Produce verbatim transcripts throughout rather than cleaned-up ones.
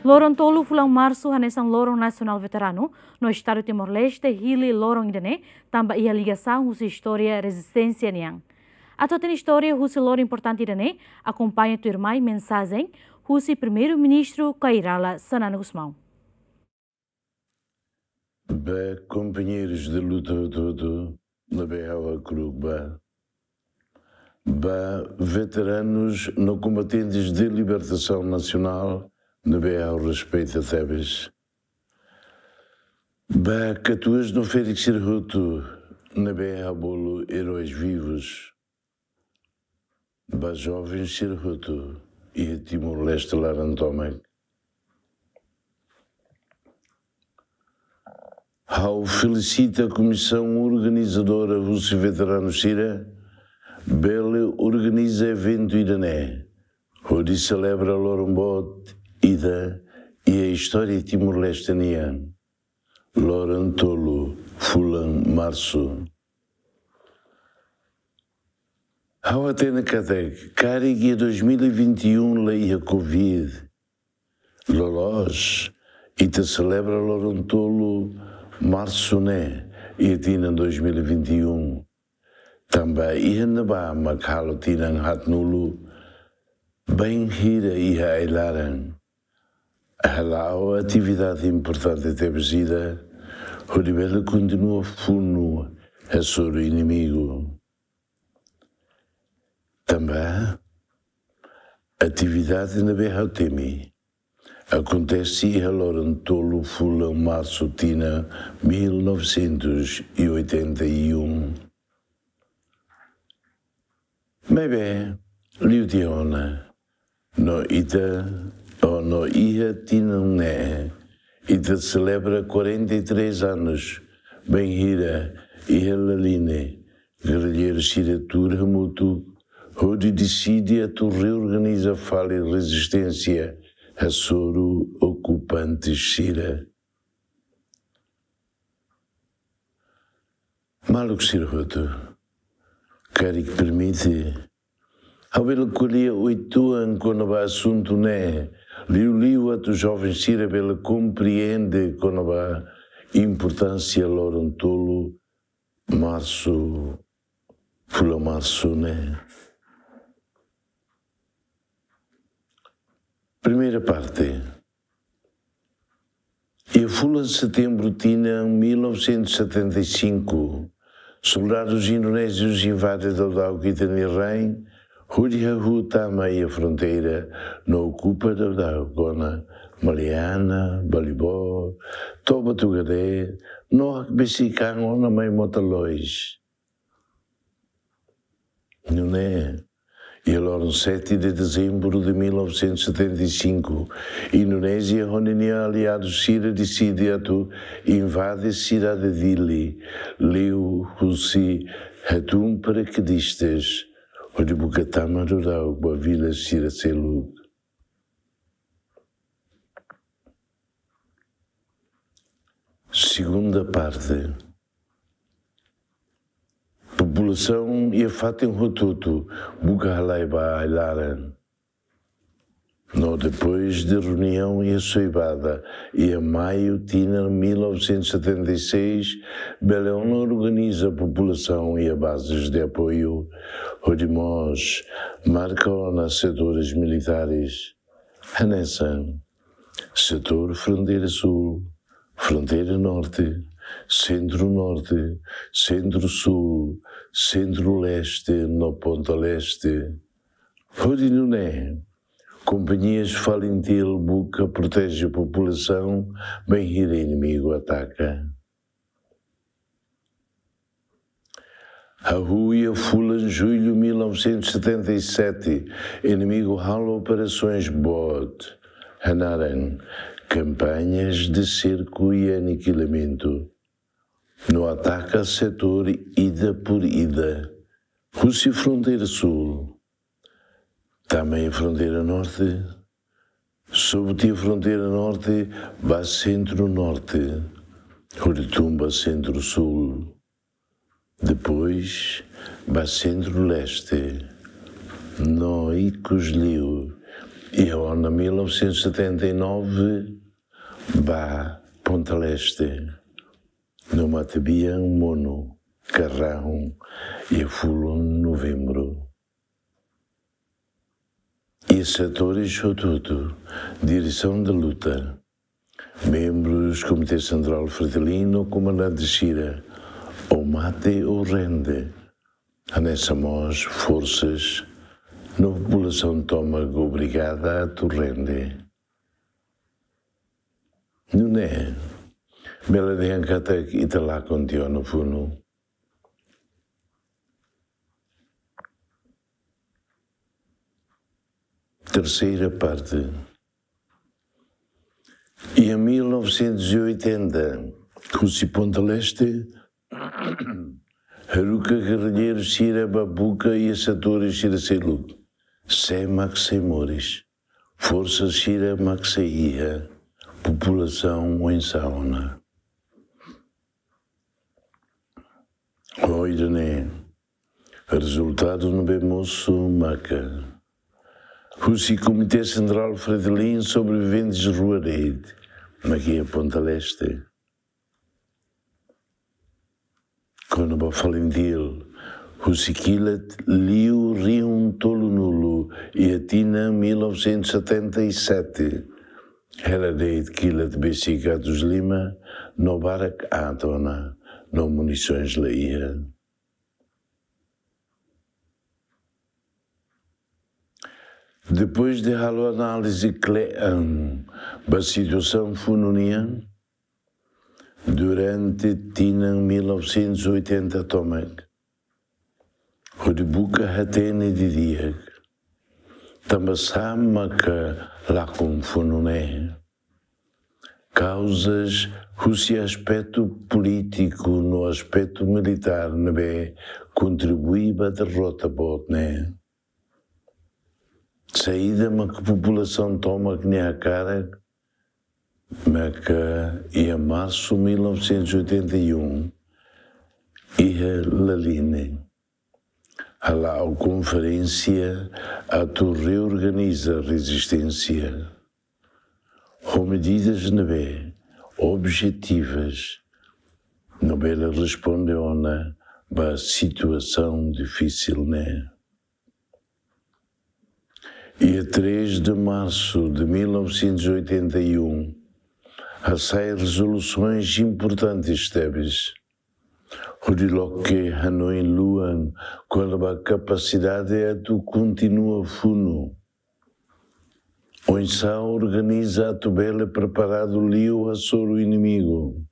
Loron tolu fulan Marsu hanesan Loron Nasionál Veteranu no Estadu Timor-Leste hili loron ida-ne'e tanba iha ligasaun husi istória rezisténsia nian. Atu hatene istória husi loron importante ida-ne'e, akompaña tuirmai mensajen husi Primeiru-Ministru Kay Rala Xanana Gusmão. Ba kompañeirus de luta hotu-hotu ne'ebé ha'u hakru'uk ba. Ba veteranus no kombatentes de libertasaun nasionál ne'ebé ha'u respeita tebes. Ba katuas no ferik sira hotu ne'ebé ha'u bolu eróis vivus. Ba joven sira hotu iha Timor-Leste laran tomak. Ha'u felisita komisaun organizadora husi veteranu sira bele organiza eventu ida-ne'e hodi selebra loron boot ida iha istória Timor-Leste nian. Loron tolu fulan Marsu. Ha'u hatene katak karik iha dois mil e vinte e um la iha Covid, loloos ita selebra loron tolu Marsu ne'e iha tinan dois mil e vinte e um. Tanba iha ne'ebá mak halo tinan haatnulu bainhira iha ai-laran. Hala'o atividade importante tebes ida hodi bele kontinua funu hasoru inimigu. Tanba atividade ne'ebé ha'u temi akontese iha loron tolu fulan Marsu tinan mil novecentos e oitenta e um. Maibé, liu tiha ona, no ita, o no iha tinan ne'e, ita selebra quarenta e três anos bainhira iha Laline, gerrilleiru sira tuur hamutuk hodi deside atu reorganiza fali rezisténsia hasoru okupante sira. Maluk sira hotu, karik permite, ha'u bele ko'alia oituan kona-ba asuntu ne'e, liuliu atu joven sira bele komprende kona-ba importánsia loron tolu Marsu, fulan Marsu ne'e. Primeira parte. Iha fulan Setembru tinan mil novecentos e setenta e cinco, soldadus indonézius invade daudauk ita-nia rain, hodi hahú tama iha fronteira no okupa daudauk ona Maliana, Balibor, to'o Batu Gadé, no hakbesik an ona mai Mota Lois. Nune'e, iha loron sete de dezembro de mil novecentos e setenta e cinco, Indonézia ho ninia aliadus sira deside atu invade sidade Dili, liuhusi hatún parakedistas, hodi buka tama daudauk ba vila sira seluk. Segunda parte. Populasaun iha fatin hotu-hotu buka halai ba ai-laran. No depois de reuniaun iha Soibada, iha maiu tinan mil novecentos e setenta e seis, bele ona organiza populasaun iha bases de apoiu, hodi mós marka ona setores militares. Hanesan setór fronteira sul, fronteira norte, sentru-norte, sentru-sul, sentru-leste no ponta leste. Hodi nune'e, kompañias FALINTIL buka proteje populasaun bainhira inimigu ataka. Hahú iha fulan jullu mil novecentos e setenta e sete, inimigu halo operasoens boot, hanaran Campañas de Cerco e Aniquilamento, no ataka setór ida por ida, husi fronteira sul, tama iha fronteira norte, sobu tiha fronteira norte ba sentru-norte, hodi tun ba sentru-sul, depois ba sentru-leste, no ikus liu Iha ona mil novecentos e setenta e nove, ba Ponta Leste, no matebian monu, karrahun, iha fulan Novembru. Iha setores hotu-hotu, diresaun da luta, membrus Komité Sentrál Fretilin no komandante sira, ou mate ou rende, hanesan mós forsas no populasaun tomak obrigada atu rende. Nune'e, bele dehan katak ita lakon tiha ona funu. Terseira parte. Iha mil novecentos e oitenta, husi Ponta Leste, haruka gerrilleiru sira ba buka iha setores sira seluk. Sé mak sei moris. Forsa sira mak sei iha. Populasaun oinsá ona. Ho ida-ne'e, rezultadu ne'ebé mosu maka, husi Komité Sentrál Fretilin sobreviventes rua de'it, mak iha Ponta Leste. Kona-ba Falintil, husi kilat liu rihun tolunulu iha tinan mil novecentos e setenta e sete, hela de'it kilat besik atus lima, no barak aat ona, no munisoens la iha. Depois de halo análize kle'an ba situasaun funu nian, durante tinan mil novecentos e oitenta tomak, hodi buka hatene didi'ak, tanba sá maka lakon funu ne'e. Kauzas husi aspetu polítiku no aspetu militár ne'ebé kontribui ba derrota boot ne'e. Saida maka populasaun tomak nia hakarak, maka iha marsu mil novecentos e oitenta e um, iha Laline, hala'o konferénsia atu reorganiza rezisténsia ho medidas ne'ebé objetivas, no bele responde ona ba situasaun difisil ne'e. Iha três de março de mil novecentos e oitenta e um, hasai rezolusoens importantes tebes, hodi loke hanoin luan kona-ba kapasidade atu kontinua funu. Oinsá organiza atu bele preparadu liu hasoru inimigu.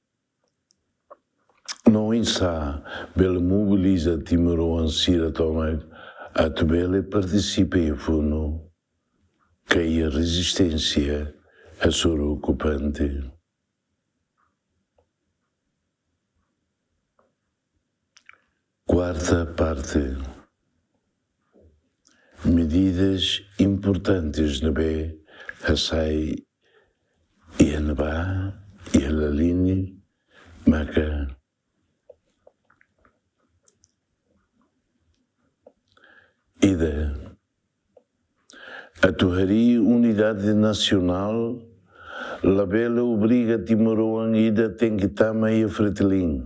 No oinsá bele mobiliza timoroan sira tomak atu bele partisipa iha funu, ka iha rezisténsia hasoru okupante. Kuarta parte. Medidas importantes ne'ebé hasai iha ne'ebá, iha Laline, maka ida, atu harii unidade nasionál, labele obriga timoroan ida tenke tama iha Fretilin,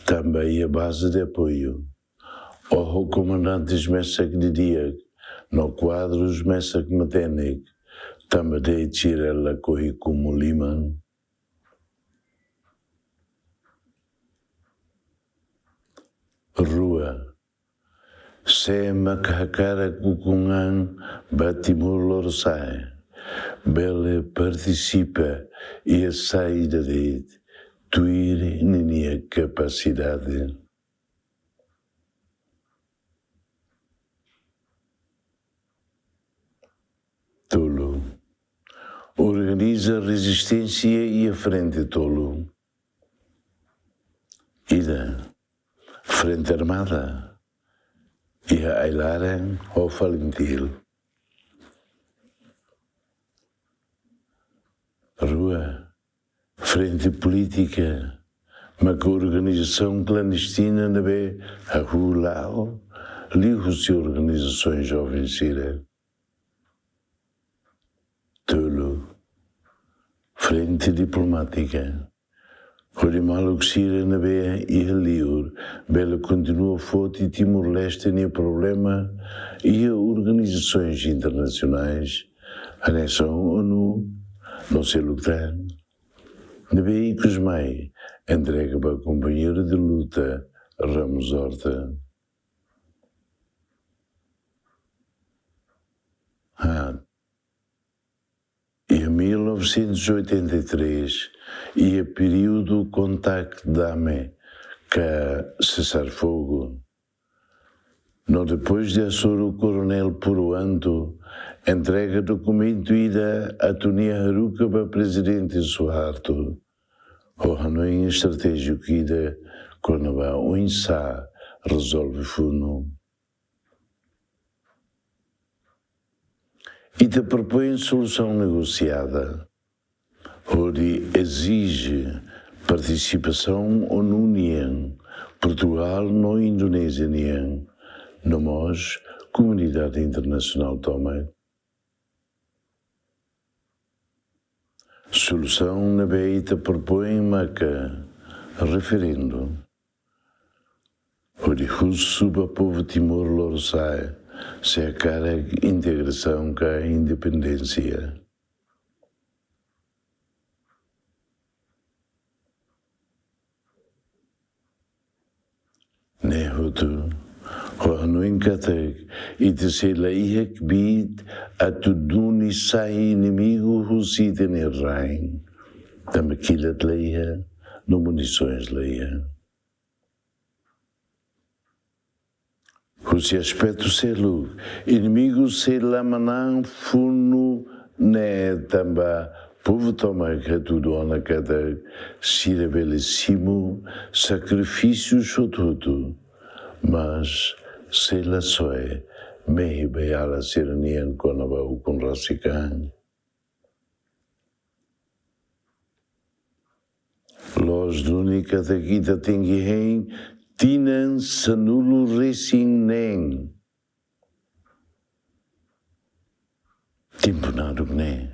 tanba iha baze de apoiu, ou ho komandantes mesak didi'ak, no kuadrus mesak matenek, tanba de'it sira lakohi kumu liman. Rua, sé mak hakarak ukun an ba Timor Lorosa'e, bele partisipa iha saida de'it, tuir ninia kapasidade. Tolu. Organiza rezisténsia iha frente tolu. Ida, frente armada, iha Ailaren ho Falintil. Rua, frente polítika, maka organizasaun klandestina ne'ebé hahú la'o, liuhusi organizasoens joven sira. frente diplomátika, hodi maluk sira ne'ebé iha liur bele kontinua foti Timor-Leste nia problema iha organizasoens internasionais, hanesan ONU, no seluk tan, ne'ebé ikus mai entrega ba kompañeiru de luta Ramos Horta. Ha, iha mil novecentos e oitenta e três, iha períodu kontak dame ka sesar fogu, no depois de asuru Koronel Puru Antu entrega dokumentu ida atu nia haruka ba Prezidente Suharto, ho hanoin estratéjiku ida kona-ba oinsá rezolve funu. Ita propoin solusaun negosiada, hodi ezije partisipasaun ONU nian, Portugal no Indonézia nian, no mós komunidade internasionál tomak. Solusaun ne'ebé ita propoin maka referendu, hodi husu ba povu Timor Lorosa'e se hakarak integrasaun ka independénsia. Ne'e hotu, ho hanoin katak ita sei la iha kbiit atu duni sai inimigu husi ita-nia rain, tanba kilat la iha, no munisoens la iha. Husi aspetu seluk, inimigu sei la manán funu ne'e tanba povu tomak hatudu ona katak sira bele simu sakrifísiu hotu-hotu, mas sei la soe mehi ba iala sira-nian kona-ba ukun rasik an. Loos duni katak ita tenke hein tinan sanulu-resin-neen. Tempu naduk ne'e.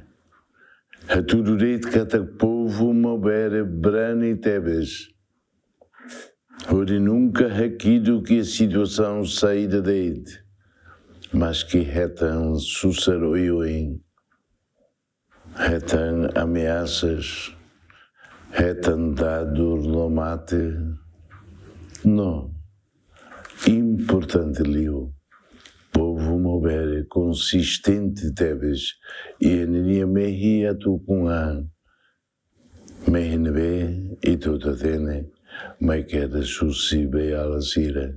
Hatudu de'it katak povu Maubere brani tebes, hodi nunka hakiduk iha situasaun saida de'it, maski hetan susar oioin, hetan ameasas, hetan dadur no mate. No, importante liu, povu Maubere konsistente tebes iha ninia mehi atu ukun an, mehi ne'ebé ita hotu hatene mai kedas husi beiala sira.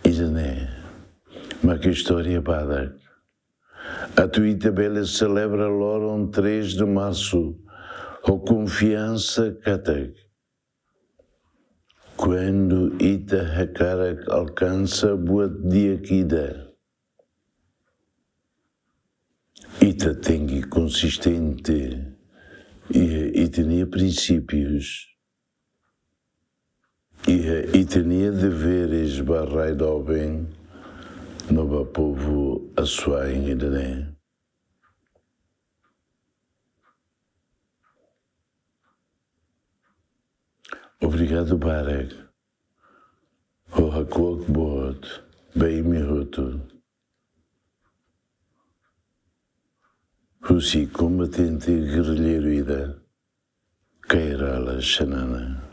Ida-ne'e mak istória badak, atu ita bele selebra loron três de março ho konfiansa katak, kuandu ita hakarak alkansa buat di'ak ida, ita tenke konsistente iha ita-nia prinsípius, iha ita-nia deveres ba rai doben no ba povu Asuai ida-ne'e. Obrigadu barak. Ho hakuak boot ba imi hotu. Husi kombatente gerrilleiru ida, Kay Rala Xanana.